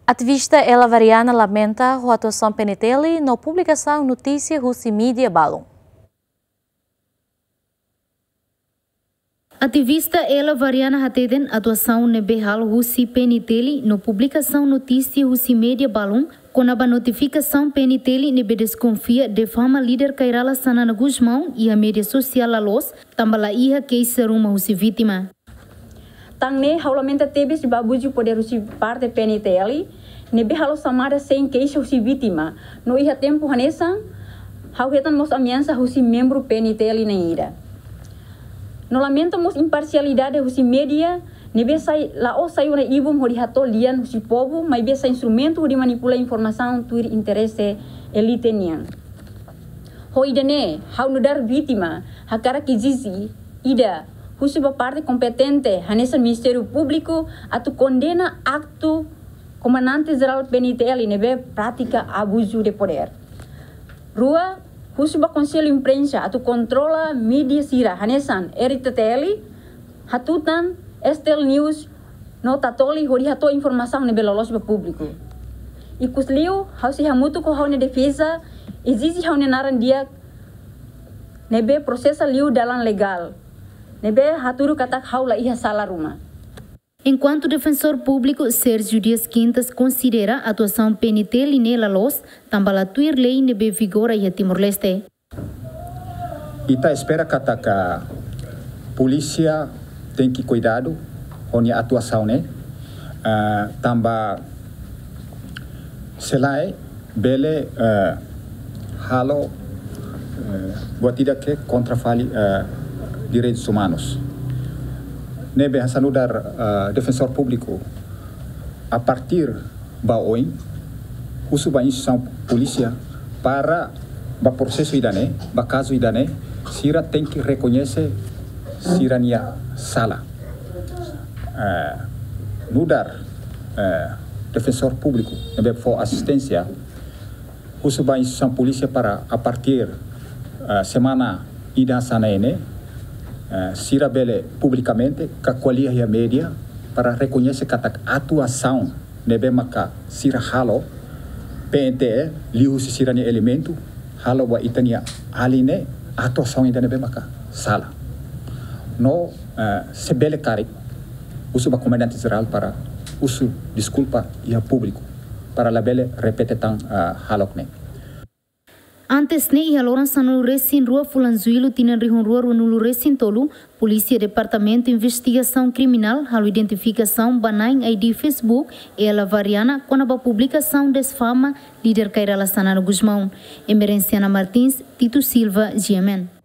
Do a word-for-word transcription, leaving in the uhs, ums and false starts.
Ativista Ela Variana lamenta ho atuasaun P N T L no publikasaun notísia husi mídia balun. Ativista Ela Variana hateten atuasaun ne'ebé halo husi P N T L no publikasaun notísia husi mídia balun kona-ba notifikasaun P N T L ne'ebé deskonfia difama líder Kay Rala Xanana Gusmão iha mídia sosiál la loos, tanba la iha keixa ruma husi vítima. Tan ne'e ha'u lamenta tebes ba abuzu podér husi parte P N T L, ne'ebé halo xamada sein keixa husi vítima, no iha tempu hanesan, ha'u hetan mós ameasa husi membru P N T L na'in ida. No lamenta mós imparsialidade husi mídia, ne'ebé sai, la'ós sai ona ibun hodi hato'o lian husi povu, maibé sai instrumentu hodi manipula informasaun tuir interese elite nian. Ho ida-ne'e, ha'u nu'udar vítima, hakarak ezije, ida, husu ba parte kompetente, hanesan Ministériu Públiku, atu kondena aktu Komandante Jerál P N T L ne'ebé pratika abuzu de podér. Rua, husu ba Konsellu Imprensa atu kontrola mídia sira, hanesan R T T L, Hatutan, S T L News, no Tatoli hodi hato'o informasaun ne'ebé loloos ba públiku. Ikusliu, ha'u sei hamutuk ho ha'u-nia defeza, ezije ha'u-nia naran di'ak, ne'ebé prosesa liu dalan legál, ne'ebé hatudu katak ha'u la iha sala ruma. Enkuantu Defensór Públiku Sérgio Dias Quintas konsidera atuasaun P N T L ne'e la loos, tanba la tuir lei ne'ebé vigora iha Timor-Leste. Ita espera katak polísia tenke kuidadu ho nia atuasaun ne'e, eh, tanba se lae bele, eh, halo, eh, buat ida ke kontra fali, eh, direitus umanus. Ne'ebé hanesan nu'udar, eh, Defensór Públiku, a partir ba oin, husu ba instituisaun polísia para ba prosesu ida-ne'e, ba kazu ida-ne'e, sira tenke rekoñese sira-nia sala. Eh, nu'udar, eh, Defensór Públiku ne'ebé fó asisténsia, husu ba instituisaun polísia para a partir, eh, semana ida hanesan ne'e, eh, sira bele publikamente ka ko'alia iha mídia para rekoñese katak atuasaun ne'ebé maka sira halo, P N T L liuhusi sira-nia elementu halo ba ita-nia alin ne'e, atuasaun ida ne'ebé maka sala. No, eh, se bele karik, husu ba Komandante Jerál para husu deskulpa iha públiku, para labele repete tan, eh, hahalok ne'e. Antes ne'e, iha loron sanulu-resin-rua fulan Jullu tinan rihun rua ruanulu-resin-tolu, Polísia Departamentu Investigasaun Kriminál halo identifikasaun ba na'in I D Facebook Ela Variana kona-ba publikasaun difama líder Kay Rala Xanana Gusmão. Emerenciana Martins, Tito Silva, G M N.